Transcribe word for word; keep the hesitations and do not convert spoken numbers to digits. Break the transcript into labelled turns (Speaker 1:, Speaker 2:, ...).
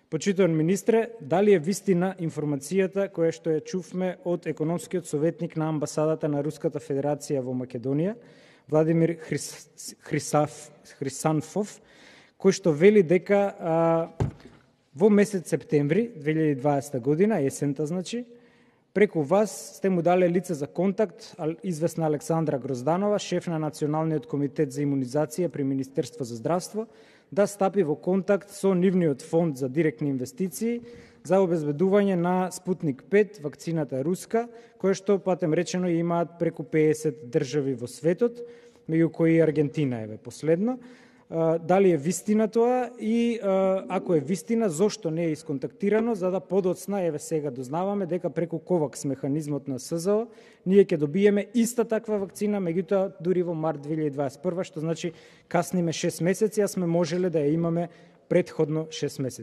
Speaker 1: Почитуван министре, дали е вистина информацијата која што ја чувме од економскиот советник на амбасадата на Руската Федерација во Македонија, Владимир Хрис... Хрисав... Хрисанфов, кој што вели дека а, во месец септември две илјади и дваесета година, есента значи, преку вас сте му дале лице за контакт, известна Александра Грозданова, шеф на Националниот комитет за имунизација при Министерство за здравство, да стапи во контакт со нивниот фонд за директни инвестиции за обезбедување на Спутник пет, вакцината руска, која што, патем речено, имаат преку педесет држави во светот, меѓу кои Аргентина е последно. Дали е вистина тоа и ако е вистина, зошто не е исконтактирано, за да подоцна, еве сега дознаваме дека преку ковакс механизмот на СЗО ние ќе добиеме иста таква вакцина, меѓутоа дури во март две илјади дваесет и прва, што значи касниме шест месеци, а сме можеле да ја имаме претходно шест месеци.